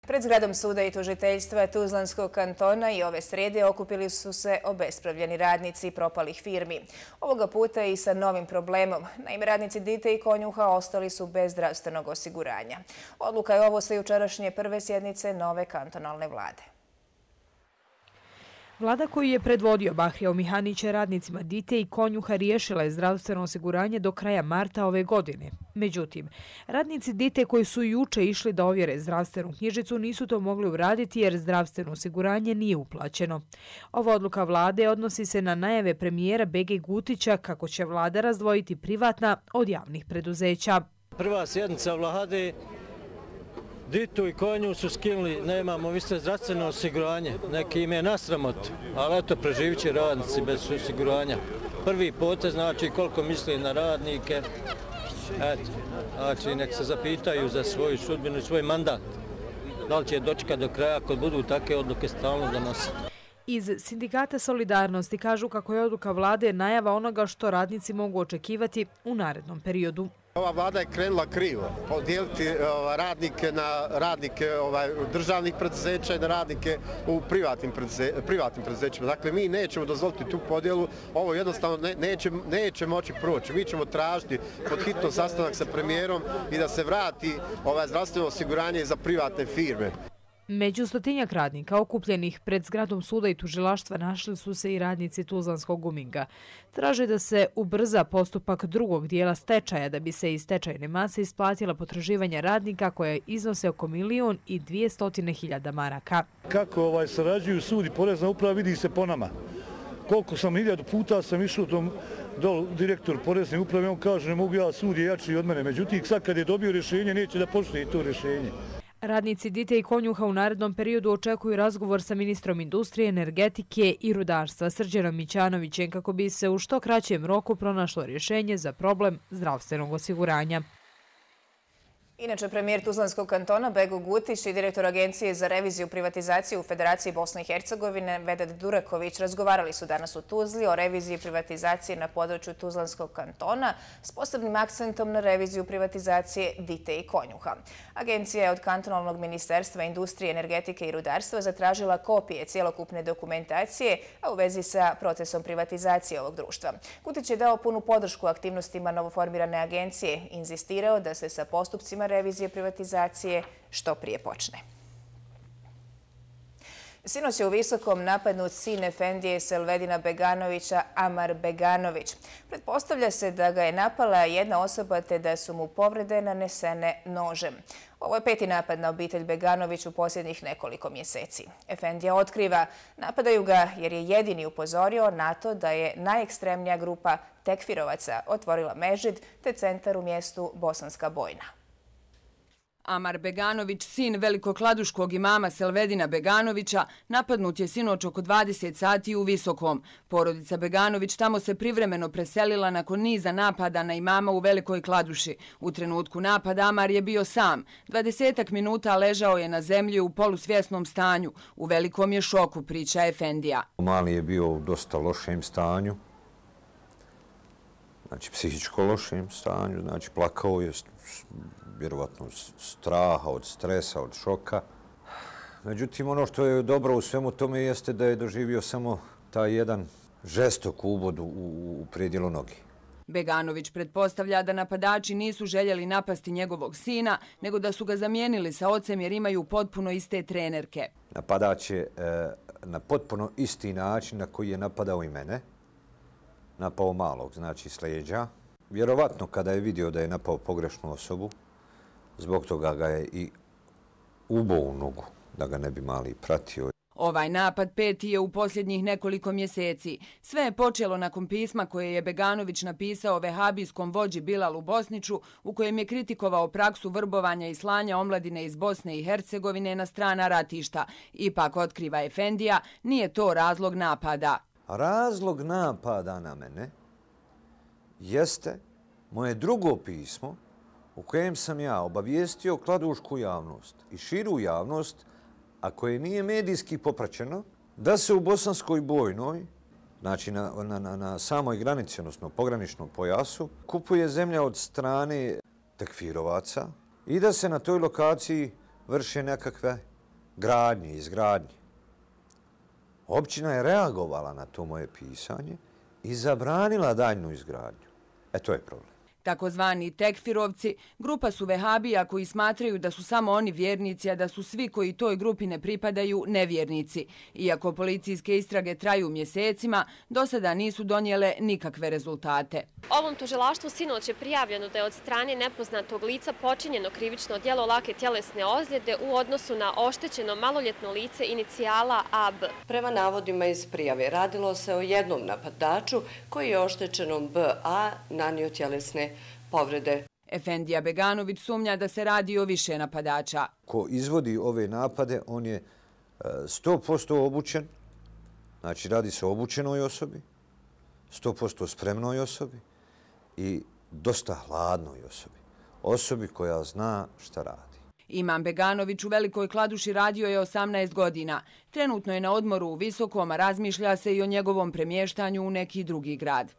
Pred zgradom suda i tužiteljstva Tuzlanskog kantona i ove srede okupili su se obespravljeni radnici propalih firmi. Ovoga puta i sa novim problemom. Naime, radnici Dite i Konjuha ostali su bez zdravstvenog osiguranja. Odluka je ovo sa jučerašnje prve sjednice nove kantonalne vlade. Vlada koju je predvodio Bahrijao Mihanić je radnicima Dite i Konjuha riješila je zdravstveno osiguranje do kraja marta ove godine. Međutim, radnici Dite koji su juče išli da ovjere zdravstvenu knjižicu nisu to mogli uraditi jer zdravstveno osiguranje nije uplaćeno. Ova odluka vlade odnosi se na najave premijera Bege Gutića kako će vlada razdvojiti privatna od javnih preduzeća. Prva sjednica vlade, Ditu i Konju su skinuli, nemamo više zdravstveno osiguranje, neki im je nasramot, ali eto preživit će radnici bez osiguranja. Prvi potez znači koliko misli na radnike, eto, znači nek se zapitaju za svoju sudbinu i svoj mandat. Da li će dočekati do kraja ako budu takve odluke stalno donositi. Iz Sindikata Solidarnosti kažu kako je odluka vlade najava onoga što radnici mogu očekivati u narednom periodu. Ova vlada je krenula krivo, podijeliti radnike na radnike državnih preduzeća i na radnike u privatnim preduzećima. Dakle, mi nećemo dozvoliti tu podjelu, ovo jednostavno neće moći proći. Mi ćemo tražiti pod hitno sastanak sa premijerom i da se vrati zdravstveno osiguranje za privatne firme. Među 100-tinjak radnika okupljenih pred zgradom suda i tužilaštva našli su se i radnici Tuzlanskog guminga. Traže da se ubrza postupak drugog dijela stečaja da bi se iz stečajne mase isplatila potraživanja radnika koje iznose oko 1.200.000 maraka. Kako sarađuju sud i porezna uprava vidi se po nama. Koliko sam 1000 puta sam išao tom direktor porezne uprave, on kaže ne mogu ja, sud je jači od mene. Međutim, sad kad je dobio rješenje neće da poštuje to rješenje. Radnici Dite i Konjuha u narednom periodu očekuju razgovor sa ministrom industrije, energetike i rudarstva Srđanom Mićanovićem kako bi se u što kraćem roku pronašlo rješenje za problem zdravstvenog osiguranja. Inače, premijer Tuzlanskog kantona Bego Gutić i direktor Agencije za reviziju privatizacije u Federaciji Bosne i Hercegovine Vedad Duraković razgovarali su danas u Tuzli o reviziji privatizacije na području Tuzlanskog kantona s posebnim akcentom na reviziju privatizacije Dite i Konjuha. Agencija je od kantonalnog ministarstva industrije, energetike i rudarstva zatražila kopije cjelokupne dokumentacije, a u vezi sa procesom privatizacije ovog društva. Gutić je dao punu podršku aktivnostima novoformirane agencije, inzistirao da se sa postupcima revizije privatizacije što prije počne. Sinoć je u Visokom napadnut sin efendije Selvedina Beganovića, Amar Beganović. Pretpostavlja se da ga je napala jedna osoba te da su mu povrede nanesene nožem. Ovo je 5. napad na obitelj Beganović u posljednjih nekoliko mjeseci. Efendija otkriva, napadaju ga jer je jedini upozorio na to da je najekstremnija grupa tekfirovaca otvorila mešid te centar u mjestu Bosanska Bojna. Amar Beganović, sin velikokladuškog imama Selvedina Beganovića, napadnut je sinoć oko 20 sati u Visokom. Porodica Beganović tamo se privremeno preselila nakon niza napada na imama u Velikoj Kladuši. U trenutku napada Amar je bio sam. 20 minuta ležao je na zemlji u polusvjesnom stanju. U velikom je šoku, priča efendija. Mali je bio u dosta lošem stanju. Znači, psihičko lošem stanju. Znači, plakao je vjerovatno od straha, od stresa, od šoka. Međutim, ono što je dobro u svemu tome jeste da je doživio samo taj jedan žestok ubod u predjelu noge. Beganović pretpostavlja da napadači nisu željeli napasti njegovog sina, nego da su ga zamijenili sa ocem jer imaju potpuno iste trenerke. Napadač je na potpuno isti način na koji je napadao i mene. Napao malog, znači s leđa. Vjerovatno kada je vidio da je napao pogrešnu osobu, zbog toga ga je i ubao u nogu, da ga ne bi mali pratio. Ovaj napad 5. je u posljednjih nekoliko mjeseci. Sve je počelo nakon pisma koje je Beganović napisao vehabijskom vođi Bilalu Bosniću, u kojem je kritikovao praksu vrbovanja i slanja omladine iz Bosne i Hercegovine na strana ratišta. Ipak, otkriva efendija, nije to razlog napada. Razlog napada na mene jeste moje drugo pismo u kojem sam ja obavijestio kladušku javnost i širu javnost, a koje nije medijski popraćeno, da se u Bosanskoj Bojnoj, znači na samoj granici, odnosno pograničnom pojasu, kupuje zemlja od strane tekfirovaca i da se na toj lokaciji vrše nekakve gradnje, izgradnje. Općina je reagovala na to moje pisanje i zabranila daljnu izgradnju. To je problem. Takozvani tekfirovci, grupa su vehabija koji smatraju da su samo oni vjernici, a da su svi koji toj grupi ne pripadaju nevjernici. Iako policijske istrage traju mjesecima, do sada nisu donijele nikakve rezultate. Ovom tužilaštvu sinoć je prijavljeno da je od strane nepoznatog lica počinjeno krivično djelo lake tjelesne ozljede u odnosu na oštećeno maloljetno lice inicijala AB. Prema navodima iz prijave radilo se o jednom napadaču koji je oštećenom BA nanio tjelesne povrede. Efendija Beganović sumnja da se radi o više napadača. Ko izvodi ove napade, on je 100% obučen, znači radi se o obučenoj osobi, 100% spremnoj osobi i dosta hladnoj osobi. Osobi koja zna šta radi. Imam Beganović u Velikoj Kladuši radio je 18 godina. Trenutno je na odmoru u Visokom, a razmišlja se i o njegovom premještanju u neki drugi grad.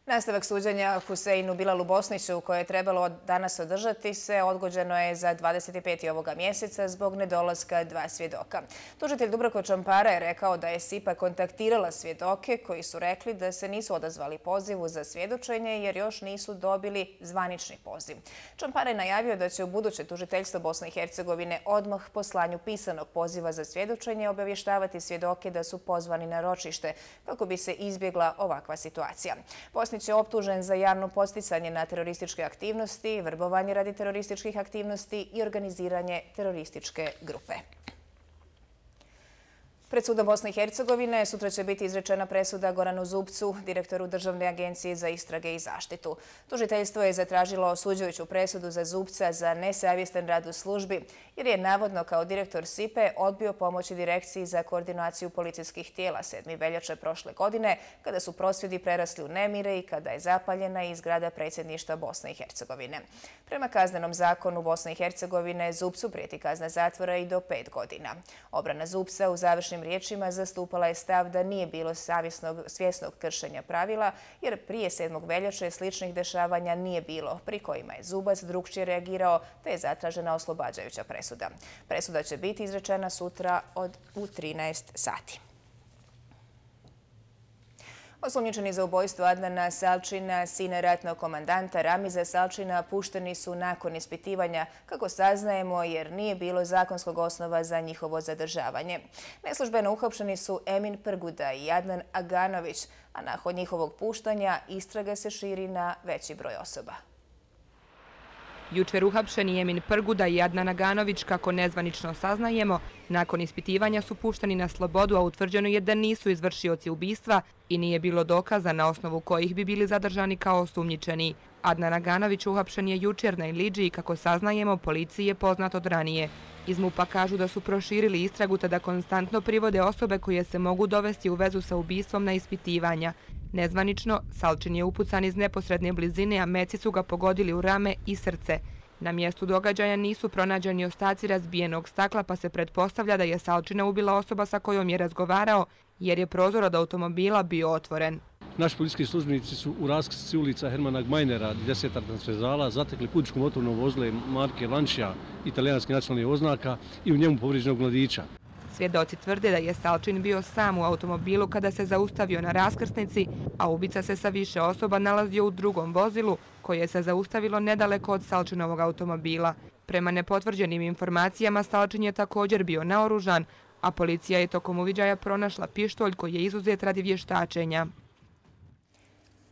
Nastavak suđenja Huseinu Bilalu Bosniću, koje je trebalo danas održati se, odgođeno je za 25. ovoga mjeseca zbog nedolaska 2 svjedoka. Tužitelj Dubravko Čampara je rekao da je SIPA kontaktirala svjedoke koji su rekli da se nisu odazvali pozivu za svjedočenje jer još nisu dobili zvanični poziv. Čampara je najavio da će u buduće tužiteljstvo Bosne i Hercegovine odmah po slanju pisanog poziva za svjedočenje obavještavati svjedoke da su pozvani na ročište kako bi se izbjegla ovakva situacija. Bosnić je optužen za javno podsticanje na terorističke aktivnosti, vrbovanje radi terorističkih aktivnosti i organiziranje terorističke grupe. Pred sudom Bosne i Hercegovine sutra će biti izrečena presuda Goranu Zupcu, direktoru Državne agencije za istrage i zaštitu. Tužiteljstvo je zatražilo osuđujuću presudu za Zupca za nesavjestan rad u službi, jer je navodno kao direktor SIPA odbio pomoći Direkciji za koordinaciju policijskih tijela 7. veljače prošle godine, kada su prosvjedi prerasli u nemire i kada je zapaljena i zgrada predsjedništva Bosne i Hercegovine. Prema kaznenom zakonu Bosne i Hercegovine Zupcu prijeti kazna zatvora i do 5 godina. Obrana Zupca u završnim riječima zastupala je stav da nije bilo svjesnog kršenja pravila, jer prije 7. veljače sličnih dešavanja nije bilo, pri kojima je Zubac drukčije reagirao, te je zatražena oslobađajuća presuda. Presuda će biti izrečena sutra u 13 sati. Osumnjičeni za ubojstvo Adnana Salčina, sina ratnog komandanta Ramiza Salčina, pušteni su nakon ispitivanja, kako saznajemo, jer nije bilo zakonskog osnova za njihovo zadržavanje. Neslužbeno uhapšeni su Emin Prguda i Adnan Aganović, a nakon njihovog puštanja istraga se širi na veći broj osoba. Jučer uhapšeni Emin Prguda i Adnan Aganović, kako nezvanično saznajemo, nakon ispitivanja su pušteni na slobodu, a utvrđeno je da nisu izvršioci ubistva i nije bilo dokaza na osnovu kojih bi bili zadržani kao osumnjičeni. Adnan Aganović uhapšen je jučer na Ilidži i, kako saznajemo, policiji je poznat od ranije. Iz MUP-a kažu da su proširili istragu te da konstantno privode osobe koje se mogu dovesti u vezu sa ubistvom na ispitivanja. Nezvanično, Salčin je upucan iz neposredne blizine, a meci su ga pogodili u rame i srce. Na mjestu događaja nisu pronađeni ostaci razbijenog stakla, pa se pretpostavlja da je Salčina ubila osoba sa kojom je razgovarao, jer je prozor od automobila bio otvoren. Naši policijski službenici su u raskrsnici ulica Hermana Gmajnera, 10 transverzala, zatekli putničko motorno vozilo marke Lancia, italijanskih nacionalnih oznaka, i u njemu povrijeđenog mladića. Svjedoci tvrde da je Salčin bio sam u automobilu kada se zaustavio na raskrsnici, a ubica se sa više osoba nalazio u drugom vozilu koje se zaustavilo nedaleko od Salčinovog automobila. Prema nepotvrđenim informacijama, Salčin je također bio naoružan, a policija je tokom uviđaja pronašla pištolj koji je izuzet radi vještačenja.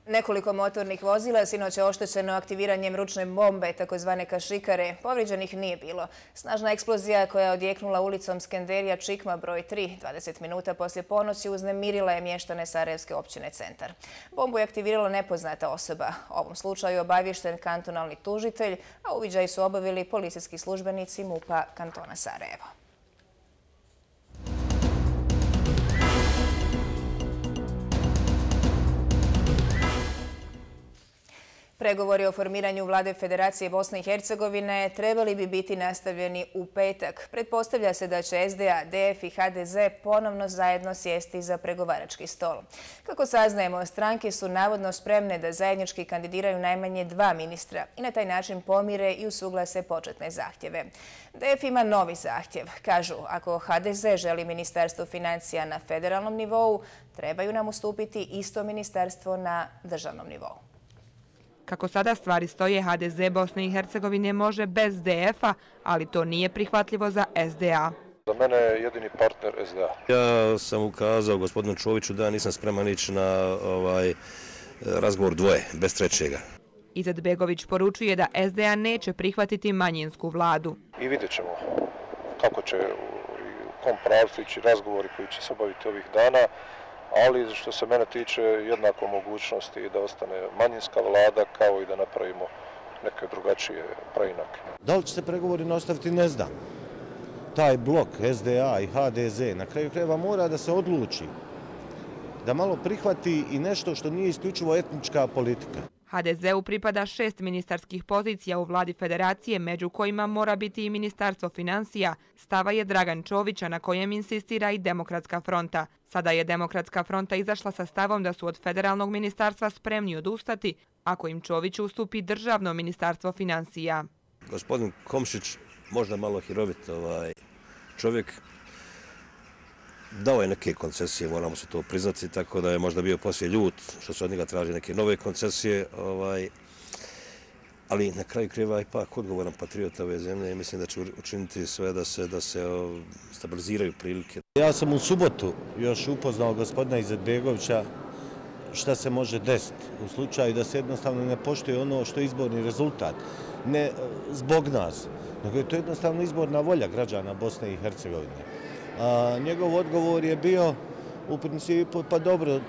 Nekoliko motornih vozila sinoć je oštećeno aktiviranjem ručne bombe, takozvane kašikare. Povrijeđenih nije bilo. Snažna eksplozija koja je odjeknula ulicom Skenderija Čikma broj 3, 20 minuta poslije ponoći, uznemirila je mještane Sarajevske općine Centar. Bombu je aktivirala nepoznata osoba. U ovom slučaju obaviješten kantonalni tužitelj, a uviđaj su obavili policijski službenici MUP-a kantona Sarajevo. Pregovori o formiranju vlade Federacije Bosne i Hercegovine trebali bi biti nastavljeni u petak. Pretpostavlja se da će SDA, DF i HDZ ponovno zajedno sjesti za pregovarački stol. Kako saznajemo, stranke su navodno spremne da zajednički kandidiraju najmanje 2 ministra i na taj način pomire i usuglase početne zahtjeve. DF ima novi zahtjev. Kažu, ako HDZ želi ministarstvo financija na federalnom nivou, trebaju nam ustupiti isto ministarstvo na državnom nivou. Kako sada stvari stoje, HDZ Bosne i Hercegovine može bez DF-a, ali to nije prihvatljivo za SDA. Za mene je jedini partner SDA. Ja sam ukazao gospodinu Čoviću da nisam spreman ići na razgovor dvoje, bez trećega. Izetbegović poručuje da SDA neće prihvatiti manjinsku vladu. I vidjet ćemo kako će u kom pravcu ići razgovori koji će se obaviti ovih dana, ali što se mene tiče jednako mogućnosti da ostane manjinska vlada kao i da napravimo neke drugačije preinake. Da li će se pregovori nastaviti, ne znam. Taj blok SDA i HDZ na kraju krajeva mora da se odluči, da malo prihvati i nešto što nije isključivo etnička politika. HDZ-u pripada 6 ministarskih pozicija u vladi federacije, među kojima mora biti i ministarstvo financija. Stava je Dragan Čovića, na kojem insistira i Demokratska fronta. Sada je Demokratska fronta izašla sa stavom da su od federalnog ministarstva spremni odustati ako im Čović ustupi državno ministarstvo financija. Gospodin Komšić, možda malo hirovit čovjek, dao je neke koncesije, moramo se to priznati, tako da je možda bio poslije ljut što se od njega traži neke nove koncesije, ali na kraju krajeva ipak odgovoran patriota ove zemlje i mislim da će učiniti sve da se stabiliziraju prilike. Ja sam u subotu još upoznao gospodina Izetbegovića šta se može desiti u slučaju da se jednostavno ne poštuje ono što je izborni rezultat. Ne zbog nas, nego je to jednostavno izborna volja građana Bosne i Hercegovine. Njegov odgovor je bio u principu, pa dobro,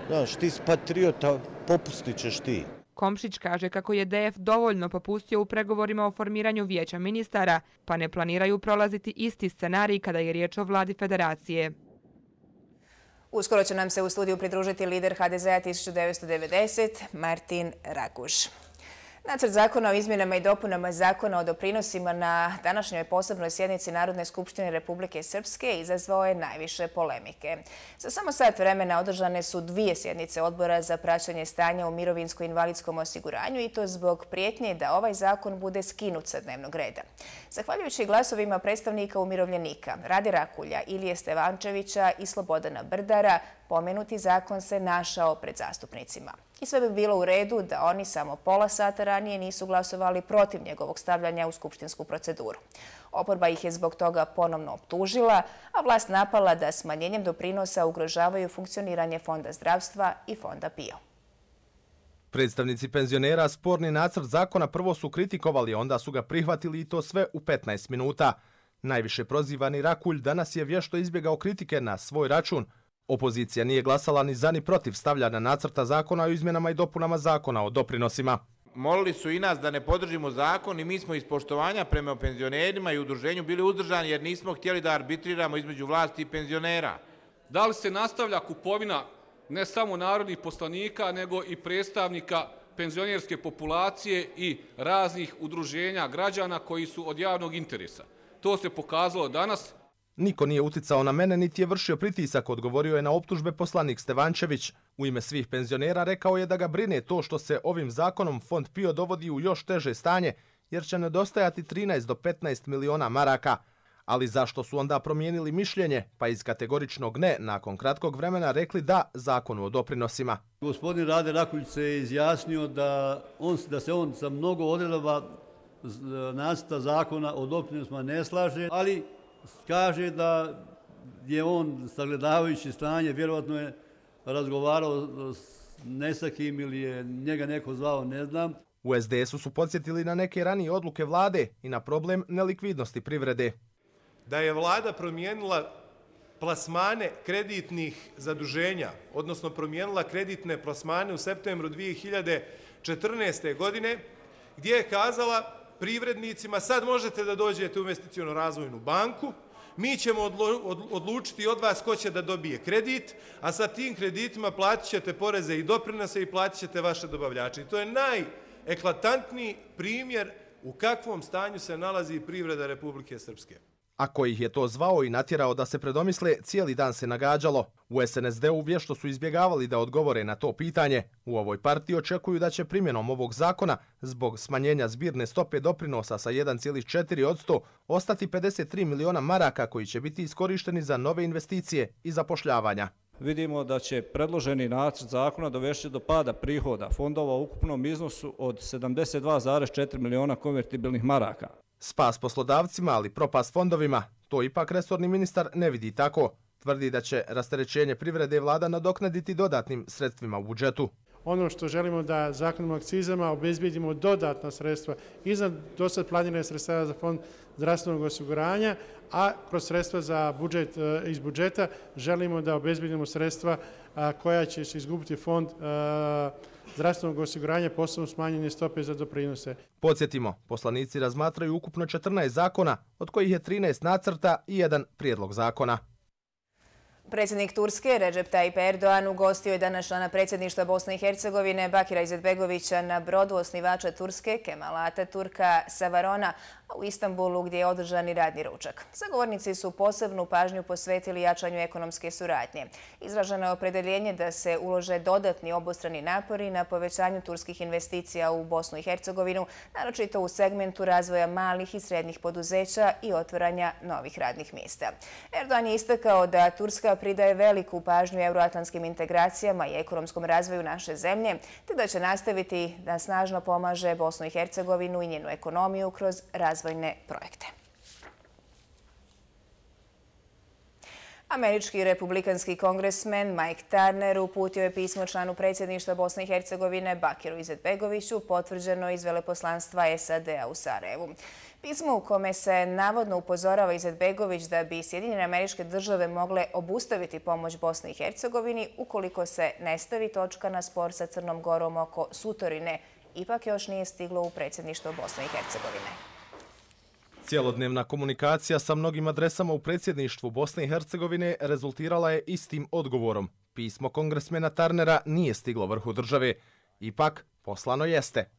znaš, ti si patriota, popustit ćeš ti. Komšić kaže kako je DF dovoljno popustio u pregovorima o formiranju vijeća ministara, pa ne planiraju prolaziti isti scenarij kada je riječ o vladi federacije. Uskoro će nam se u studiju pridružiti lider HDZ-a 1990, Martin Raguž. Nacrt zakona o izmjenama i dopunama zakona o doprinosima na današnjoj posebnoj sjednici Narodne skupštine Republike Srpske izazvao je najviše polemike. Za samo sat vremena održane su 2 sjednice odbora za praćenje stanja u mirovinsko-invalidskom osiguranju i to zbog prijetnje da ovaj zakon bude skinut sa dnevnog reda. Zahvaljujući glasovima predstavnika umirovljenika Rade Rakulja, Ilije Stevančevića i Slobodana Brdara, pomenuti zakon se našao pred zastupnicima. I sve bi bilo u redu da oni samo pola sata ranije nisu glasovali protiv njegovog stavljanja u skupštinsku proceduru. Oporba ih je zbog toga ponovno optužila, a vlast napala da smanjenjem doprinosa ugrožavaju funkcioniranje Fonda zdravstva i Fonda PIO. Predstavnici penzionera sporni nacrt zakona prvo su kritikovali, onda su ga prihvatili i to sve u 15 minuta. Najviše prozivani Rakulj danas je vješto izbjegao kritike na svoj račun. Opozicija nije glasala ni za ni protiv stavljanja nacrta zakona o izmjenama i dopunama zakona o doprinosima. Molili su i nas da ne podržimo zakon i mi smo iz poštovanja prema penzionerima i udruženju bili uzdržani jer nismo htjeli da arbitriramo između vlasti i penzionera. Da li se nastavlja kupovina ne samo narodnih poslanika, nego i predstavnika penzionerske populacije i raznih udruženja građana koji su od javnog interesa? To se pokazalo danas. Niko nije uticao na mene, niti je vršio pritisak, odgovorio je na optužbe poslanik Stevančević. U ime svih penzionera rekao je da ga brine to što se ovim zakonom Fond PIO dovodi u još teže stanje, jer će nedostajati 13 do 15 miliona maraka. Ali zašto su onda promijenili mišljenje, pa iz kategoričnog ne nakon kratkog vremena rekli da zakonu o doprinosima? Gospodin Rade Rakulj se izjasnio da se on sa mnogo odredaba nacrta zakona o doprinosima ne slaže, ali kaže da je on, sagledavajući stanje, vjerovatno je razgovarao s nesakim ili je njega neko zvao, ne znam. U SDS-u su podsjetili na neke ranije odluke vlade i na problem nelikvidnosti privrede. Da je vlada promijenila plasmane kreditnih zaduženja, odnosno promijenila kreditne plasmane u septembru 2014. godine, gdje je kazala privrednicima sad možete da dođete u investicionu razvojnu banku, mi ćemo odlučiti od vas ko će da dobije kredit, a sa tim kreditima platit ćete poreze i doprinose i platit ćete vaše dobavljače. I to je eklatantni primjer u kakvom stanju se nalazi privreda Republike Srpske. Ako ih je to zvao i natjerao da se predomisle, cijeli dan se nagađalo. U SNSD-u vješto su izbjegavali da odgovore na to pitanje. U ovoj partiji očekuju da će primjenom ovog zakona, zbog smanjenja zbirne stope doprinosa sa 1,4% ostati 53 miliona maraka koji će biti iskorišteni za nove investicije i zapošljavanja. Vidimo da će predloženi nacrt zakona dovesti do pada prihoda fondova u ukupnom iznosu od 72,4 miliona konvertibilnih maraka. Spas poslodavcima, ali propast fondovima, to ipak resorni ministar ne vidi tako. Tvrdi da će rasterećenje privrede vlada nadoknaditi dodatnim sredstvima u budžetu. Ono što želimo da zakonom o akcizama obezbijedimo dodatna sredstva iznad dosad planirane sredstava za fond zdravstvenog osiguranja, a kroz sredstva za budžet iz budžeta želimo da obezbijedimo sredstva koja će se izgubiti fond zdravstvenog osiguranja, posebno smanjenje stope za doprinose. Podsjetimo, poslanici razmatraju ukupno 14 zakona, od kojih je 13 nacrta i 1 prijedlog zakona. Predsjednik Turske Recep Tayyip Erdoğan ugostio je danas člana predsjedništva Bosne i Hercegovine Bakira Izetbegovića na brodu osnivača Turske Kemala Ataturka sa Varona u Istanbulu gdje je održan i radni ručak. Zagovornici su posebnu pažnju posvetili jačanju ekonomske suradnje. Izraženo je opredeljenje da se ulože dodatni obostrani napori na povećanju turskih investicija u Bosnu i Hercegovinu, naročito u segmentu razvoja malih i srednjih poduzeća i otvaranja novih radnih mjesta. Erdoğan je istakao da Turska pridaje veliku pažnju euroatlantskim integracijama i ekonomskom razvoju naše zemlje, te da će nastaviti da snažno pomaže Bosnu i Hercegovinu i njenu ekonomiju kroz razvojne projekte. Američki republikanski kongresmen Mike Turner uputio je pismo članu predsjedništva Bosne i Hercegovine Bakiru Izetbegoviću, potvrđeno iz veleposlanstva SAD-a u Sarajevu. Pismo u kome se navodno upozorava Izetbegović da bi Sjedinjene Američke Države mogle obustaviti pomoć Bosni i Hercegovini ukoliko se ne stavi točka na spor sa Crnom Gorom oko Sutorine, ipak još nije stiglo u predsjedništvo Bosne i Hercegovine. Cijelodnevna komunikacija sa mnogim adresama u predsjedništvu Bosne i Hercegovine rezultirala je istim odgovorom. Pismo kongresmena Turnera nije stiglo vrhu države, ipak poslano jeste.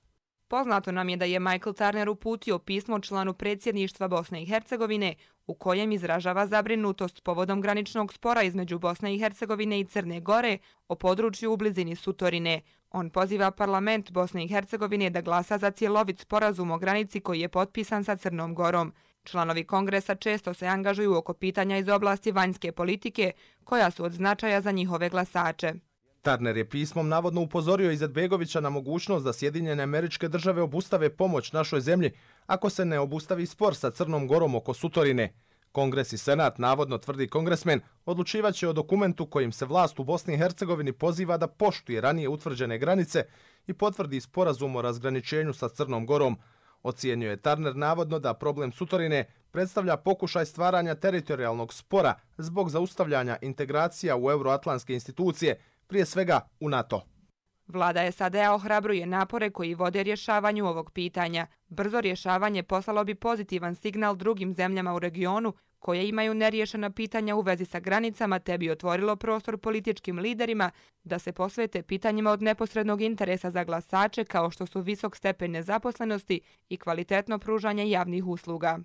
Poznato nam je da je Michael Turner uputio pismo članu predsjedništva Bosne i Hercegovine u kojem izražava zabrinutost povodom graničnog spora između Bosne i Hercegovine i Crne Gore o području u blizini Sutorine. On poziva parlament Bosne i Hercegovine da glasa za cjelovit sporazum o granici koji je potpisan sa Crnom Gorom. Članovi kongresa često se angažuju oko pitanja iz oblasti vanjske politike koja su od značaja za njihove glasače. Turner je pismom navodno upozorio Izetbegovića na mogućnost da Sjedinjene Američke Države obustave pomoć našoj zemlji ako se ne obustavi spor sa Crnom Gorom oko Sutorine. Kongres i Senat, navodno tvrdi kongresmen, odlučivaće o dokumentu kojim se vlast u Bosni i Hercegovini poziva da poštuje ranije utvrđene granice i potvrdi sporazum o razgraničenju sa Crnom Gorom. Ocijenio je Turner navodno da problem Sutorine predstavlja pokušaj stvaranja teritorijalnog spora zbog zaustavljanja integracija u euroatlantske institucije, prije svega u NATO. Vlada SAD-a ohrabruje napore koji vode rješavanju ovog pitanja. Brzo rješavanje poslalo bi pozitivan signal drugim zemljama u regionu koje imaju neriješena pitanja u vezi sa granicama, te bi otvorilo prostor političkim liderima da se posvete pitanjima od neposrednog interesa za glasače kao što su visok stepen nezaposlenosti i kvalitetno pružanje javnih usluga.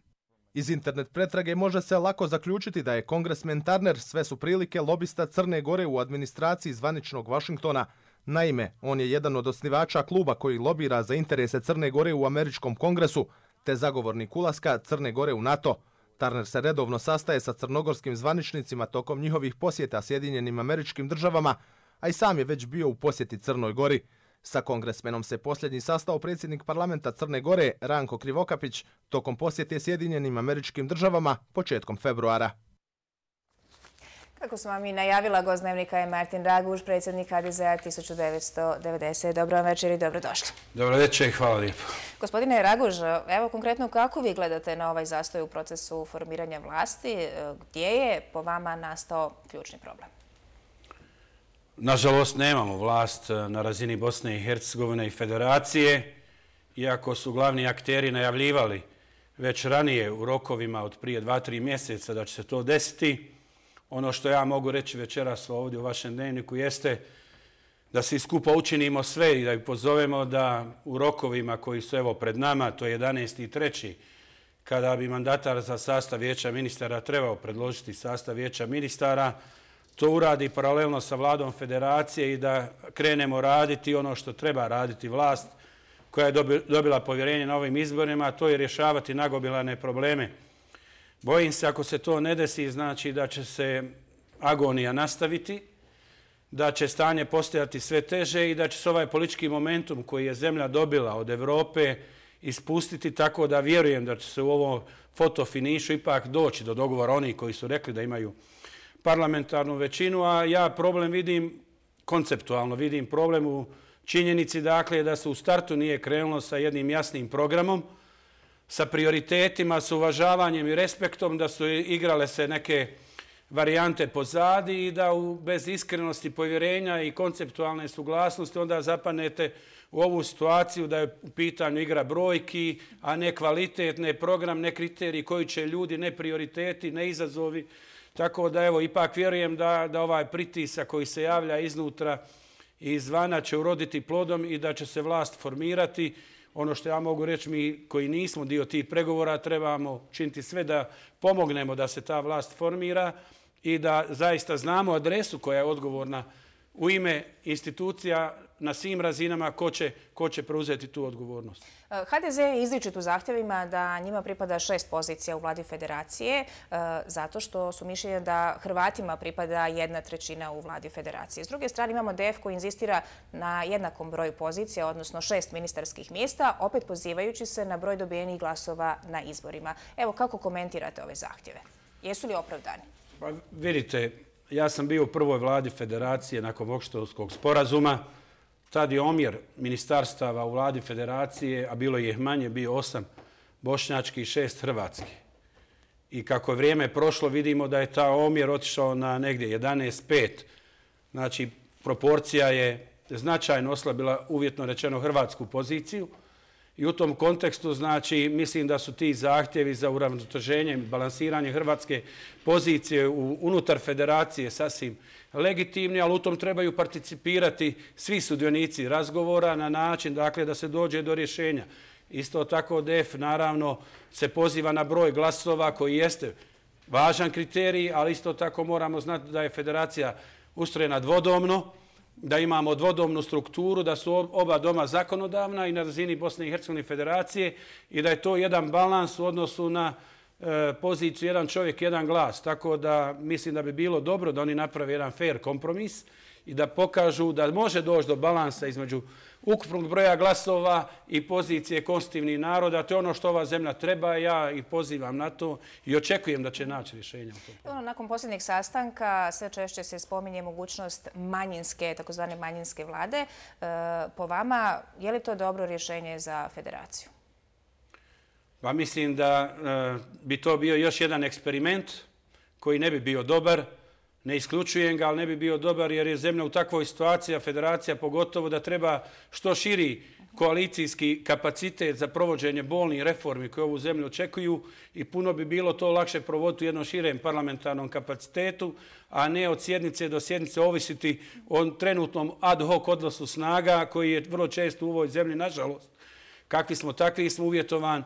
Iz internet pretrage može se lako zaključiti da je kongresmen Turner sve su prilike lobista Crne Gore u administraciji zvaničnog Vašingtona. Naime, on je jedan od osnivača kluba koji lobira za interese Crne Gore u američkom kongresu, te zagovornik ulaska Crne Gore u NATO. Turner se redovno sastaje sa crnogorskim zvaničnicima tokom njihovih posjeta Sjedinjenim Američkim Državama, a i sam je već bio u posjeti Crnoj Gori. Sa kongresmenom se posljednji sastao predsjednik parlamenta Crne Gore Ranko Krivokapić tokom posjete Sjedinjenim Američkim Državama početkom februara. Kako smo vam i najavila, gost dnevnika je Martin Raguž, predsjednik HDZ-a 1990. Dobro vam večer i dobrodošli. Dobro večer i hvala lijepo. Gospodine Raguž, evo konkretno kako vi gledate na ovaj zastoj u procesu formiranja vlasti? Gdje je po vama nastao ključni problem? Nažalost, nemamo vlast na razini Bosne i Hercegovine i Federacije, iako su glavni akteri najavljivali već ranije u rokovima od prije 2-3 mjeseca da će se to desiti. Ono što ja mogu reći večeras ovdje u vašem dnevniku jeste da svi skupa učinimo sve i da ih pozovemo da u rokovima koji su evo pred nama, to je 11.3. kada bi mandatar za sastav vijeća ministara trebao predložiti sastav vijeća ministara, to uradi paralelno sa vladom federacije i da krenemo raditi ono što treba raditi vlast koja je dobila povjerenje na ovim izborima, a to je rješavati nagomilane probleme. Bojim se ako se to ne desi, znači da će se agonija nastaviti, da će stanje postajati sve teže i da će se ovaj politički momentum koji je zemlja dobila od Evrope ispustiti, tako da vjerujem da će se u ovom fotofinišu ipak doći do dogovora onih koji su rekli da imaju parlamentarnu većinu, a ja problem vidim konceptualno, vidim problem u činjenici dakle da se u startu nije krenulo sa jednim jasnim programom, sa prioritetima, sa uvažavanjem i respektom, da su igrale se neke varijante pozadi i da bez iskrenosti, povjerenja i konceptualne suglasnosti onda zapanete u ovu situaciju da je u pitanju igra brojki, a ne kvalitet, ne program, ne kriteriji koji će ljudi, ne prioriteti, ne izazovi. Tako da evo, ipak vjerujem da ovaj pritisak koji se javlja iznutra i izvana će uroditi plodom i da će se vlast formirati. Ono što ja mogu reći, mi koji nismo dio tih pregovora trebamo činiti sve da pomognemo da se ta vlast formira i da zaista znamo adresu koja je odgovorna u ime institucija na svim razinama ko će preuzeti tu odgovornost. HDZ je izričit u zahtjevima da njima pripada 6 pozicija u vladi federacije zato što su mišljenja da Hrvatima pripada 1/3 u vladi federacije. S druge strane imamo DF koji inzistira na jednakom broju pozicija, odnosno 6 ministarskih mjesta, opet pozivajući se na broj dobijenih glasova na izborima. Evo, kako komentirate ove zahtjeve? Jesu li opravdani? Pa vidite, ja sam bio u prvoj vladi federacije nakon Vokštovskog sporazuma. Tad je omjer ministarstava u vladi federacije, a bilo je manje, bio 8 bošnjački i 6 hrvatski. I kako je vrijeme prošlo, vidimo da je ta omjer otišao na negdje 11:5. Znači, proporcija je značajno oslabila, uvjetno rečeno, hrvatsku poziciju. I u tom kontekstu, znači, mislim da su ti zahtjevi za uravnoteženje i balansiranje hrvatske pozicije unutar federacije sasvim legitimni, ali u tom trebaju participirati svi sudionici razgovora na način dakle, da se dođe do rješenja. Isto tako DF naravno se poziva na broj glasova koji jeste važan kriterij, ali isto tako moramo znati da je federacija ustrojena dvodomno, da imamo dvodomnu strukturu, da su oba doma zakonodavna i na razini Bosne i Hercegovine federacije i da je to jedan balans u odnosu na poziciju jedan čovjek, jedan glas. Tako da mislim da bi bilo dobro da oni naprave jedan fair kompromis i da pokažu da može doći do balansa između ukupnog broja glasova i pozicije konstitutivnih naroda. To je ono što ova zemlja treba. Ja ih pozivam na to i očekujem da će naći rješenja. Nakon posljednjeg sastanka sve češće se spominje mogućnost manjinske, takozvane manjinske vlade. Po vama, je li to dobro rješenje za federaciju? Pa mislim da bi to bio još jedan eksperiment koji ne bi bio dobar. Ne isključujem ga, ali ne bi bio dobar jer je zemlja u takvoj situaciji, a federacija pogotovo da treba što širi koalicijski kapacitet za provođenje bolnih reformi koje ovu zemlju očekuju i puno bi bilo to lakše provoditi u jednom širem parlamentarnom kapacitetu, a ne od sjednice do sjednice ovisiti o trenutnom ad hoc odnosu snaga koji je vrlo često u ovoj zemlji, nažalost. Kakvi smo, takvi smo, uvjetovan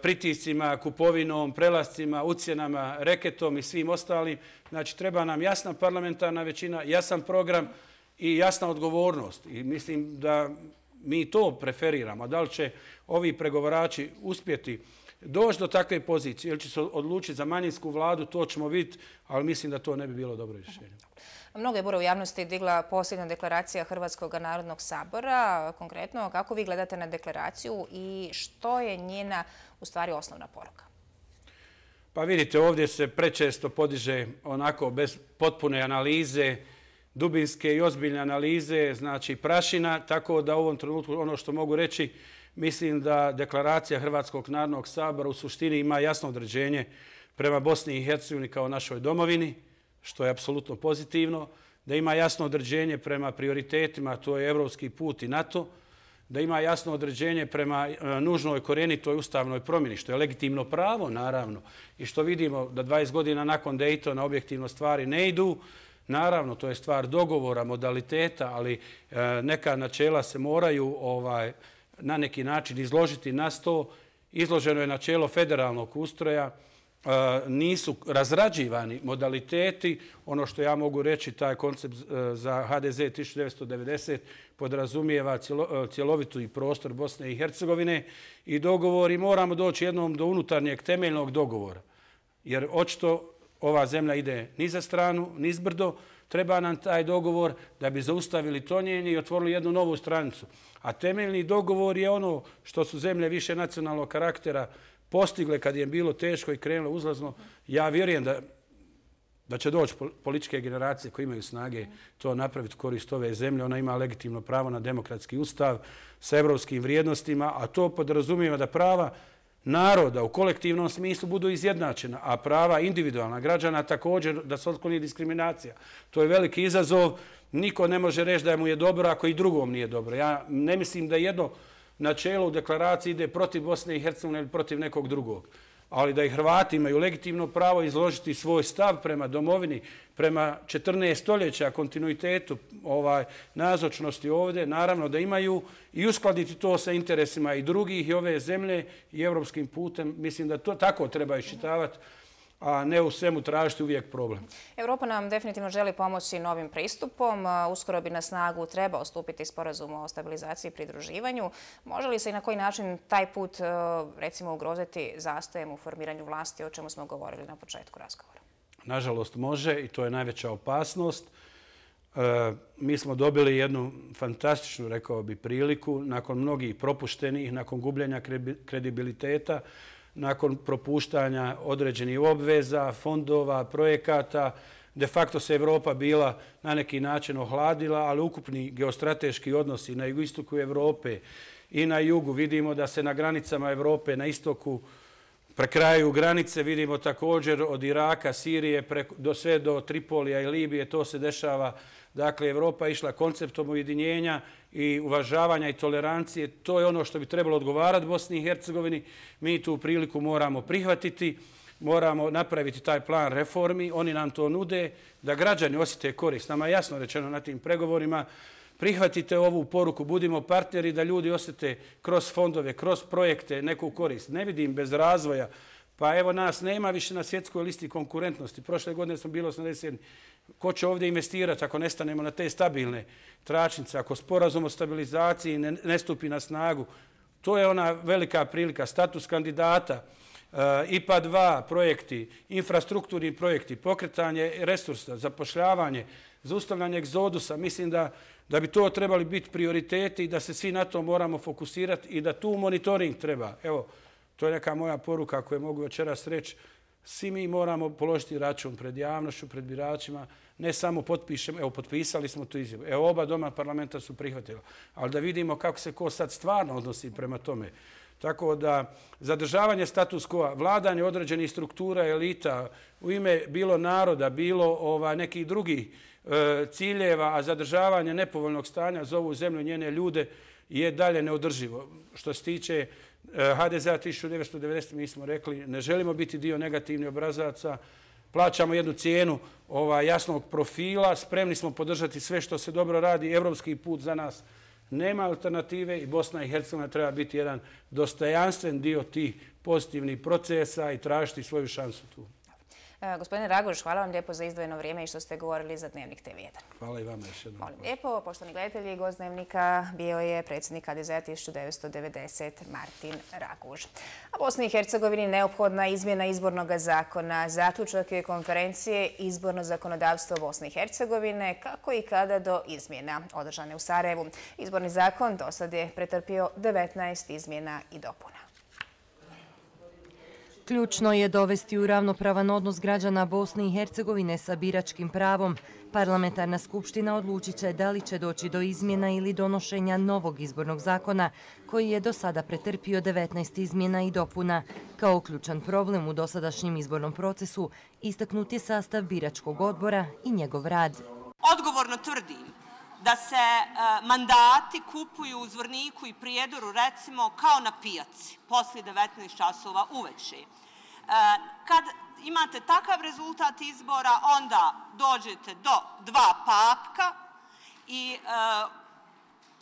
pritiscima, kupovinom, prelascima, ucjenama, reketom i svim ostalim. Znači, treba nam jasna parlamentarna većina, jasan program i jasna odgovornost. I mislim da mi to preferiramo. Da li će ovi pregovarači uspjeti doći do takve pozicije ili će se odlučiti za manjinsku vladu, to ćemo vidjeti, ali mislim da to ne bi bilo dobro rješenje. Mnogo je bura u javnosti digla posljednja deklaracija Hrvatskog narodnog sabora. Konkretno, kako vi gledate na deklaraciju i što je njena u stvari osnovna poruka? Pa vidite, ovdje se prečesto podiže onako bez potpune analize, dubinske i ozbiljne analize, znači prašina, tako da u ovom trenutku ono što mogu reći, mislim da deklaracija Hrvatskog narodnog sabora u suštini ima jasno određenje prema Bosni i Hercegovini kao našoj domovini, što je apsolutno pozitivno, da ima jasno određenje prema prioritetima, to je evropski put i NATO, da ima jasno određenje prema nužnoj korjenitoj ustavnoj promjeni, što je legitimno pravo, naravno, i što vidimo da 20 godina nakon Daytona objektivno stvari ne idu, Naravno, to je stvar dogovora, modaliteta, ali neka načela se moraju na neki način izložiti na sto. Izloženo je načelo federalnog ustroja, nisu razrađivani modaliteti. Ono što ja mogu reći, taj koncept za HDZ 1990 podrazumijeva cjelovitu i prostor Bosne i Hercegovine i dogovor i moramo doći jednom do unutarnjeg temeljnog dogovora. Jer očito ova zemlja ide ni za stranu, ni zbrdo. Treba nam taj dogovor da bi zaustavili tonjenje i otvorili jednu novu stranicu. A temeljni dogovor je ono što su zemlje više nacionalnog karaktera postigle kad je bilo teško i krenulo uzlazno. Ja vjerujem da će doći političke generacije koje imaju snage to napraviti korist ove zemlje. Ona ima legitimno pravo na demokratski ustav sa evropskim vrijednostima, a to podrazumijeva da prava naroda u kolektivnom smislu budu izjednačena, a prava individualna građana također da se otkloni diskriminacija. To je veliki izazov. Niko ne može reći da mu je dobro ako i drugom nije dobro. Ja ne mislim da jedno načelo u deklaraciji ide protiv Bosne i Hercegovine ili protiv nekog drugog. Ali da i Hrvati imaju legitimno pravo izložiti svoj stav prema domovini, prema 14 stoljeća kontinuitetu nazočnosti ovdje, naravno da imaju i uskladiti to sa interesima i drugih i ove zemlje i evropskim putem. Mislim da to tako treba iščitavati, a ne u svemu tražiti uvijek problem. Europa nam definitivno želi pomoći novim pristupom. Uskoro bi na snagu trebao stupiti sporazum o stabilizaciji i pridruživanju. Može li se i na koji način taj put recimo ugroziti zastojem u formiranju vlasti, o čemu smo govorili na početku razgovora? Nažalost može i to je najveća opasnost. Mi smo dobili jednu fantastičnu, rekao bi, priliku nakon mnogih propuštenih, nakon gubljenja kredibiliteta, nakon propuštanja određenih obveza, fondova, projekata. De facto se Evropa bila na neki način ohladila, ali ukupni geostrateški odnosi na jugoistoku Evrope i na jugu vidimo da se na granicama Evrope, na istoku prekrajaju granice. Vidimo također od Iraka, Sirije, sve do Tripolija i Libije, to se dešava. Dakle, Evropa je išla konceptom ujedinjenja i uvažavanja i tolerancije. To je ono što bi trebalo odgovarati Bosni i Hercegovini. Mi tu priliku moramo prihvatiti, moramo napraviti taj plan reformi. Oni nam to nude, da građani osjete korist. Nama je jasno rečeno na tim pregovorima, prihvatite ovu poruku, budimo partneri, da ljudi osjete kroz fondove, kroz projekte neku korist. Ne vidim bez razvoja. Pa evo nas nema više na svjetskoj listi konkurentnosti. Prošle godine smo bili 80. Ko će ovdje investirati ako ne stanemo na te stabilne tračnice, ako sporazum o stabilizaciji ne stupi na snagu? To je ona velika prilika. Status kandidata, IPA 2 projekti, infrastrukturni projekti, pokretanje resursa, zapošljavanje, zaustavljanje egzodusa. Mislim da bi to trebali biti prioriteti i da se svi na to moramo fokusirati i da tu monitoring treba. Evo, to je neka moja poruka koju mogu večeras reći. Svi mi moramo položiti račun pred javnošću, pred biračima, ne samo potpišemo, evo potpisali smo tu izjavu, evo oba doma parlamenta su prihvatila, ali da vidimo kako se ko sad stvarno odnosi prema tome. Tako da zadržavanje status quo, vladanje određenih struktura, elita, u ime bilo naroda, bilo nekih drugih ciljeva, a zadržavanje nepovoljnog stanja za ovu zemlju i njene ljude je dalje neodrživo. Što se tiče HDZ-a 1990. mi smo rekli ne želimo biti dio negativnih obrazaca, plaćamo jednu cijenu jasnog profila, spremni smo podržati sve što se dobro radi, evropski put za nas nema alternative i Bosna i Hercegovina treba biti jedan dostojanstven dio tih pozitivnih procesa i tražiti svoju šansu tu. Gospodine Raguž, hvala vam lijepo za izdvojeno vrijeme i što ste govorili za Dnevnik TV1. Hvala i vama još jednom. Molim lijepo, poštovani gledatelji, gost Dnevnika bio je predsjednik HDZ-a 1990 Martin Raguž. A Bosni i Hercegovini neophodna izmjena izbornog zakona. Zaključak je konferencije Izborno zakonodavstvo Bosne i Hercegovine, kako i kada do izmjena održane u Sarajevu. Izborni zakon do sad je pretrpio 19 izmjena i dopuna. Ključno je dovesti u ravnopravan odnos građana Bosne i Hercegovine sa biračkim pravom. Parlamentarna skupština odlučit će da li će doći do izmjena ili donošenja novog izbornog zakona, koji je do sada pretrpio 19 izmjena i dopuna. Kao ključan problem u dosadašnjem izbornom procesu istaknut je sastav biračkog odbora i njegov rad. Odgovorno tvrdim da se mandati kupuju u Zvorniku i Prijedoru, recimo, kao na pijaci, poslije 19 časova uveče. Kad imate takav rezultat izbora, onda dođete do 2 papka i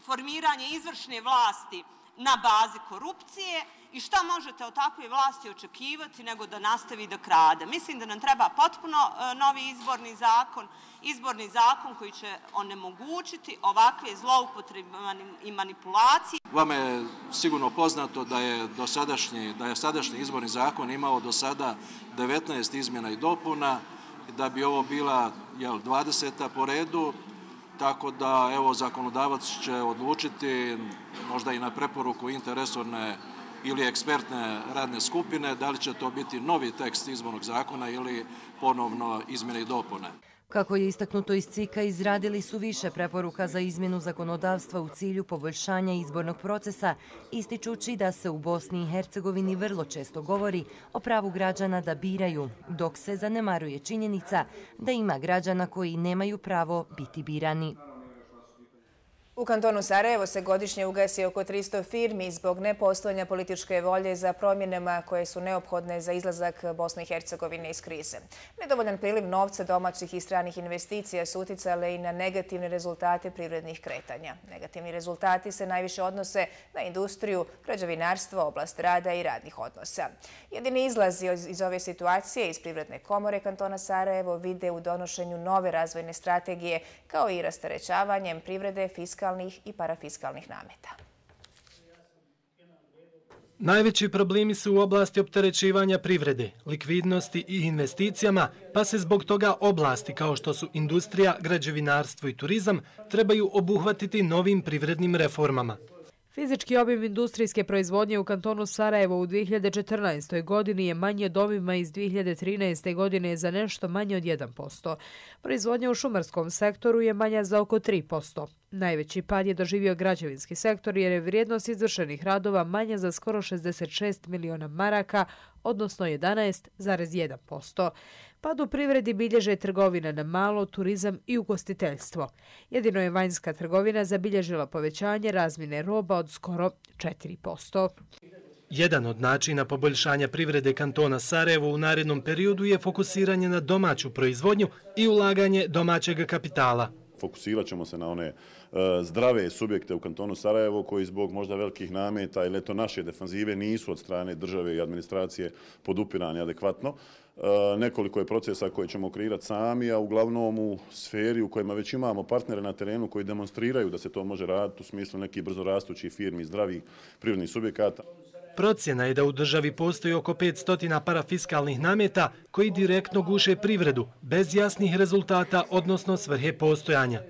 formiranje izvršne vlasti na bazi korupcije i šta možete od takve vlasti očekivati nego da nastavi da krade. Mislim da nam treba potpuno novi izborni zakon koji će onemogućiti ovakve zloupotrebe i manipulacije. Vama je sigurno poznato da je sadašnji izborni zakon imao do sada 19 izmjena i dopuna, da bi ovo bila 20. po redu. Tako da, evo, zakonodavac će odlučiti, možda i na preporuku interresorne ili ekspertne radne skupine, da li će to biti novi tekst izbornog zakona ili ponovno izmjene i dopune. Kako je istaknuto iz CIK-a, izradili su više preporuka za izmjenu zakonodavstva u cilju poboljšanja izbornog procesa, ističući da se u Bosni i Hercegovini vrlo često govori o pravu građana da biraju, dok se zanemaruje činjenica da ima građana koji nemaju pravo biti birani. U kantonu Sarajevo se godišnje ugasi oko 300 firmi zbog nepostojanja političke volje za promjenama koje su neophodne za izlazak Bosne i Hercegovine iz krize. Nedovoljan priliv novca domaćih i stranih investicija su uticale i na negativne rezultate privrednih kretanja. Negativni rezultati se najviše odnose na industriju, građevinarstvo, oblast rada i radnih odnosa. Jedini izlaz iz ove situacije iz Privredne komore kantona Sarajevo vide u donošenju nove razvojne strategije kao i rasterećavanjem privrede, fiskalnih i parafiskalnih nameta. Najveći problemi su u oblasti opterećivanja privrede, likvidnosti i investicijama, pa se zbog toga oblasti kao što su industrija, građevinarstvo i turizam trebaju obuhvatiti novim privrednim reformama. Fizički obim industrijske proizvodnje u kantonu Sarajevo u 2014. godini je manji od obima iz 2013. godine za nešto manje od 1%. Proizvodnja u šumarskom sektoru je manja za oko 3%. Najveći pad je doživio građevinski sektor jer je vrijednost izvršenih radova manja za skoro 66 miliona maraka, odnosno 11,1%. Pad u privredi bilježe trgovina na malo, turizam i ugostiteljstvo. Jedino je vanjska trgovina zabilježila povećanje razmjene roba od skoro 4%. Jedan od načina poboljšanja privrede kantona Sarajevo u narednom periodu je fokusiranje na domaću proizvodnju i ulaganje domaćeg kapitala. Fokusirat ćemo se na one zdrave subjekte u kantonu Sarajevo koji zbog možda velikih nameta ili naše defanzive nisu od strane države i administracije podupirani adekvatno. Nekoliko je procesa koje ćemo kreirati sami, a uglavnom u sferi u kojima već imamo partnere na terenu koji demonstriraju da se to može raditi u smislu nekih brzorastućih firmi, zdravih privrednih subjekata. Procjena je da u državi postoji oko 500 parafiskalnih nameta koji direktno guše privredu, bez jasnih rezultata, odnosno svrhe postojanja.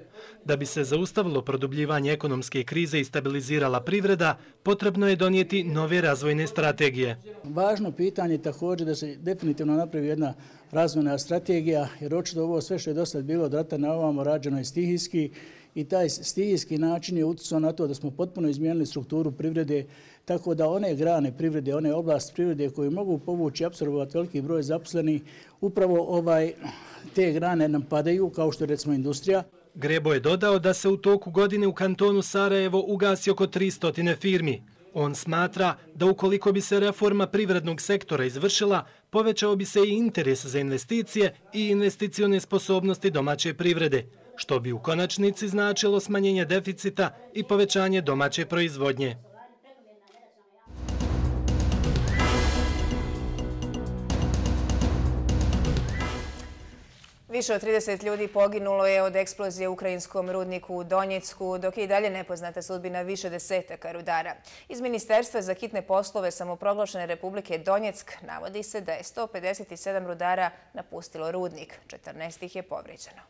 Da bi se zaustavilo produbljivanje ekonomske krize i stabilizirala privreda, potrebno je donijeti nove razvojne strategije. Važno pitanje je također da se definitivno napravi jedna razvojna strategija, jer očito ovo sve što je do sad bilo od rata na ovamo rađeno je stihijski i taj stihijski način je utjecao na to da smo potpuno izmijenili strukturu privrede, tako da one grane privrede, one oblasti privrede koje mogu povući i apsorbovati veliki broj zaposlenih, upravo te grane nam padaju, kao što je recimo industrija. Grebo je dodao da se u toku godine u kantonu Sarajevo ugasi oko 300 firmi. On smatra da ukoliko bi se reforma privrednog sektora izvršila, povećao bi se i interes za investicije i investicione sposobnosti domaće privrede, što bi u konačnici značilo smanjenje deficita i povećanje domaće proizvodnje. Više od 30 ljudi poginulo je od eksplozije u ukrajinskom rudniku u Donjecku, dok je i dalje nepoznata sudbina više desetaka rudara. Iz Ministarstva za hitne poslove samoproglašene Republike Donjeck navodi se da je 157 rudara napustilo rudnik, 14 ih je povrijeđeno.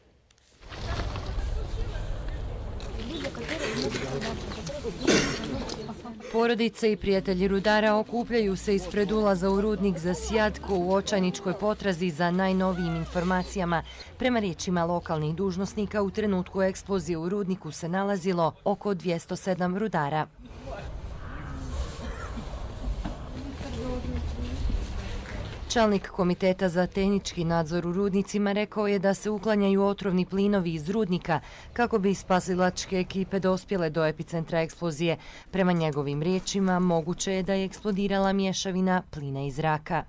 Porodice i prijatelji rudara okupljaju se ispred ulaza u rudnik za Sjatko u očajničkoj potrazi za najnovijim informacijama. Prema riječima lokalnih dužnosnika, u trenutku eksplozije u rudniku se nalazilo oko 207 rudara. Čelnik Komiteta za tehnički nadzor u rudnicima rekao je da se uklanjaju otrovni plinovi iz rudnika kako bi spasilačke ekipe dospjele do epicentra eksplozije. Prema njegovim riječima, moguće je da je eksplodirala mješavina plina i zraka.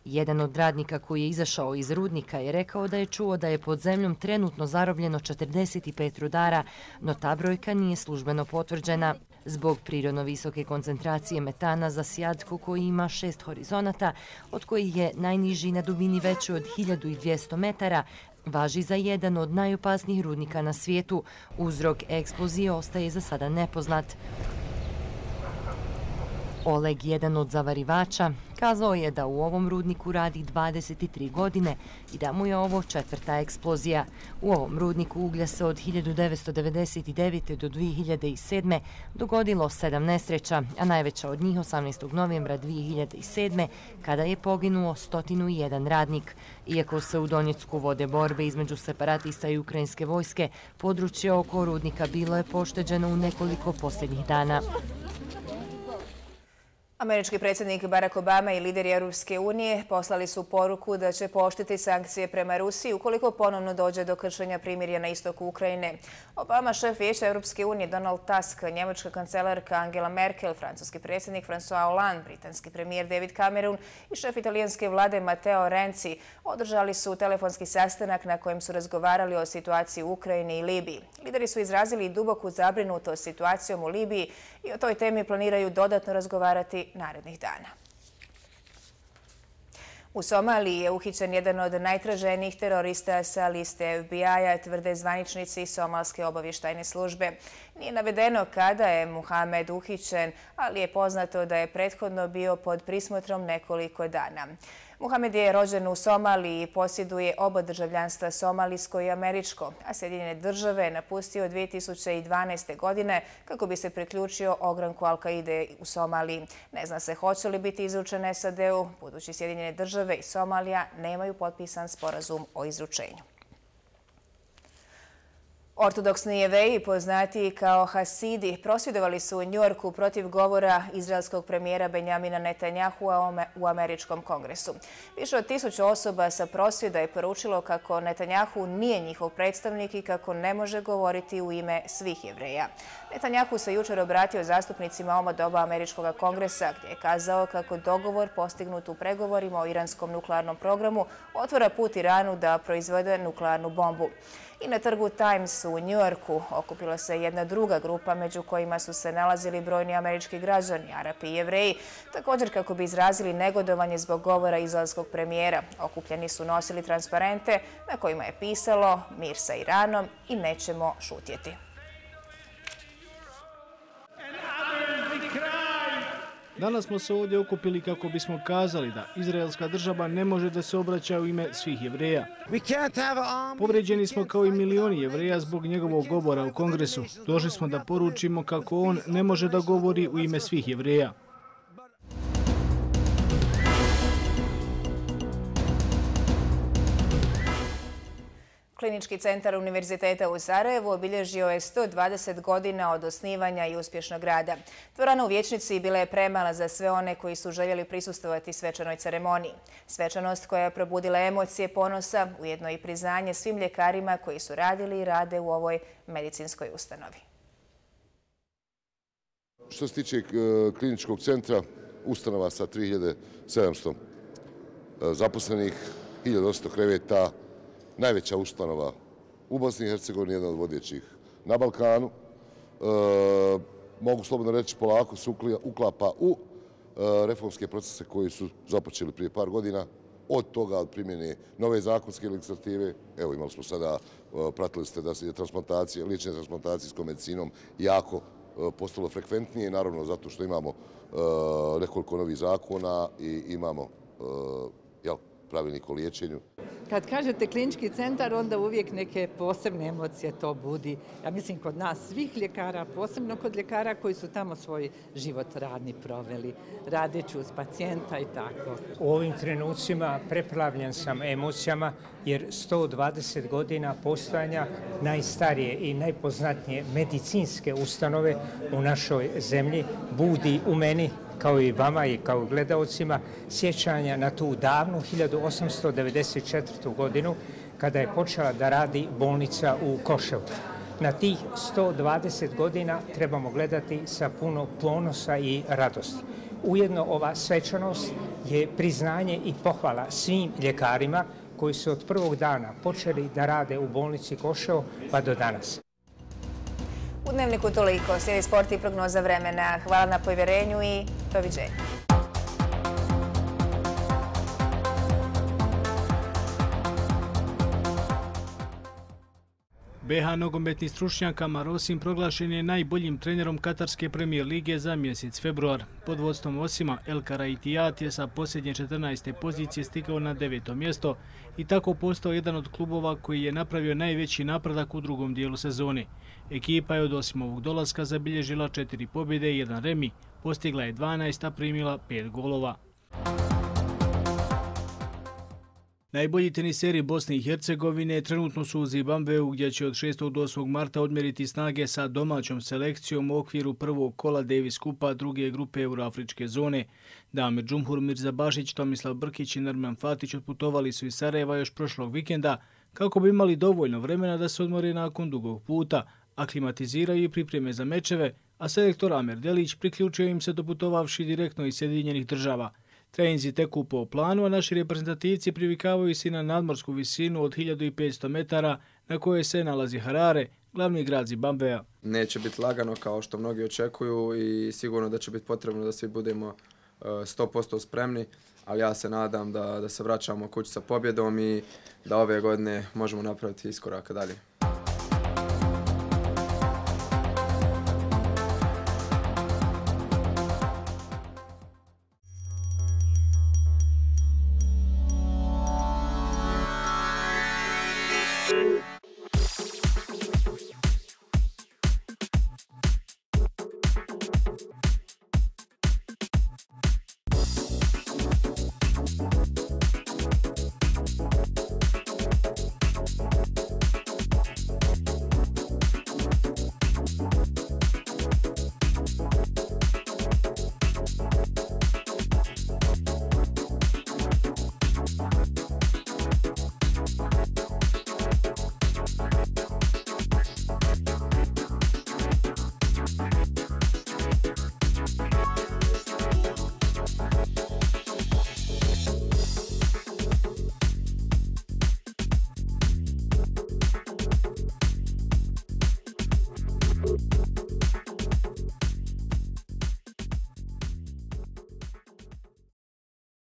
Jedan od radnika koji je izašao iz rudnika je rekao da je čuo da je pod zemljom trenutno zarobljeno 45 rudara, no ta brojka nije službeno potvrđena. Zbog prirodno visoke koncentracije metana za Sjadko koji ima 6 horizonata, od kojih je najniži na dubini veći od 1200 metara, važi za jedan od najopasnijih rudnika na svijetu. Uzrok eksplozije ostaje za sada nepoznat. Oleg, jedan od zavarivača, kazao je da u ovom rudniku radi 23 godine i da mu je ovo 4. eksplozija. U ovom rudniku uglja se od 1999. do 2007. dogodilo 7 nesreća, a najveća od njih 18. novembra 2007. kada je poginuo 101 radnik. Iako se u Donjecku vode borbe između separatista i ukrajinske vojske, područje oko rudnika bilo je pošteđeno u nekoliko posljednjih dana. Američki predsjednik Barack Obama i lideri Europske unije poslali su poruku da će pooštriti sankcije prema Rusiji ukoliko ponovno dođe do kršenja primirja na istoku Ukrajine. Obama, šef Vijeća Europske unije Donald Tusk, njemačka kancelarka Angela Merkel, francuski predsjednik François Hollande, britanski premijer David Cameron i šef italijanske vlade Matteo Renzi održali su telefonski sastanak na kojem su razgovarali o situaciji u Ukrajini i Libiji. Lideri su izrazili duboku zabrinutost situacijom u Libiji i o toj temi planiraju dodatno razgovarati narednih dana. U Somaliji je uhićen jedan od najtraženijih terorista sa liste FBI-a, tvrde zvaničnici somalske obavještajne službe. Nije navedeno kada je Muhamed uhićen, ali je poznato da je prethodno bio pod prismotrom nekoliko dana. Muhamed je rođen u Somaliji i posjeduje oba državljanstva, somalijsko i američko, a Sjedinjene države napustio 2012. godine kako bi se priključio ogranku Al-Kaide u Somaliji. Ne zna se hoće li biti izručen SAD-u, budući Sjedinjene države i Somalija nemaju potpisan sporazum o izručenju. Ortodoksni Jevreji, poznatiji kao Hasidi, prosvjedovali su u Njujorku protiv govora izraelskog premijera Benjamina Netanjahua u američkom kongresu. Više od 1000 osoba sa prosvjeda je poručilo kako Netanjahu nije njihov predstavnik i kako ne može govoriti u ime svih Jevreja. Netanjahu se jučer obratio zastupnicima oba doba američkog kongresa, gdje je kazao kako dogovor postignut u pregovorima o iranskom nuklearnom programu otvara put Iranu da proizvede nuklearnu bombu. I na trgu Times u Njujorku okupila se jedna druga grupa među kojima su se nalazili brojni američki građani, Arapi i Jevreji, također kako bi izrazili negodovanje zbog govora izraelskog premijera. Okupljeni su nosili transparente na kojima je pisalo "Mir sa Iranom" i "Nećemo šutjeti". Danas smo se ovdje okupili kako bismo kazali da izraelska država ne može da se obraća u ime svih Jevreja. Povređeni smo kao i milioni Jevreja zbog njegovog govora u Kongresu. Došli smo da poručimo kako on ne može da govori u ime svih Jevreja. Klinički centar Univerziteta u Sarajevu obilježio je 120 godina od osnivanja i uspješnog rada. Dvorana u Vijećnici bila je premala za sve one koji su željeli prisustvovati svečanoj ceremoniji. Svečanost koja je probudila emocije ponosa, ujedno i priznanje svim ljekarima koji su radili i rade u ovoj medicinskoj ustanovi. Što se tiče kliničkog centra, ustanova sa 3700 zaposlenih, 1800 kreveta, najveća ustanova u Bosni i Hercegovini, jedna od vodećih na Balkanu. Mogu slobodno reći, polako se uklapa u reformske procese koji su započeli prije par godina. Od toga, od primjene nove zakonske legislative, evo imali smo sada, pratili ste da se transplantacije, liječenje transplantacijskom medicinom jako postalo frekventnije, naravno zato što imamo nekoliko novih zakona i imamo pravilnik o liječenju. Kad kažete klinički centar, onda uvijek neke posebne emocije to budi. Ja mislim kod nas svih ljekara, posebno kod ljekara koji su tamo svoj život radni proveli, radeći uz pacijenta i tako. U ovim trenucima preplavljen sam emocijama jer 120 godina postojanja najstarije i najpoznatnije medicinske ustanove u našoj zemlji budi u meni, kao i vama i kao gledaocima, sjećanja na tu davnu 1894. godinu kada je počela da radi bolnica u Koševu. Na tih 120 godina trebamo gledati sa puno ponosa i radosti. ujedno ova svečanost je priznanje i pohvala svim ljekarima koji su od prvog dana počeli da rade u bolnici Koševo pa do danas. U Dnevniku toliko. Slijedi sport i prognoza vremena. Hvala na povjerenju i doviđenja. BH nogometni stručnjak Kamar Osim proglašen je najboljim trenerom Katarske premijer lige za mjesec februar. Pod vodstvom Osima, El Karaitijat je sa posljednje 14. pozicije stigao na 9. mjesto i tako postao jedan od klubova koji je napravio najveći napredak u drugom dijelu sezone. Ekipa je od Osimovog dolaska zabilježila 4 pobjede i 1 remi, postigla je 12, a primila 5 golova. Najbolji teniseri Bosne i Hercegovine trenutno su u Zimbabveu gdje će od 6. do 8. marta odmjeriti snage sa domaćom selekcijom u okviru prvog kola Davis Kupa druge grupe Euroafričke zone. Damir Džumhur, Mirza Bašić, Tomislav Brkić i Nerman Fatić otputovali su iz Sarajeva još prošlog vikenda kako bi imali dovoljno vremena da se odmore nakon dugog puta, aklimatiziraju i pripreme za mečeve, a selektor Amer Delić priključio im se doputovavši direktno iz Sjedinjenih država. Treninzi teku po planu, a naši reprezentativci privikavaju se na nadmorsku visinu od 1500 metara na kojoj se nalazi Harare, glavni grad Zimbabvea. Neće biti lagano kao što mnogi očekuju i sigurno da će biti potrebno da svi budemo 100% spremni, ali ja se nadam da se vraćamo kući sa pobjedom i da ove godine možemo napraviti iskoraka dalje.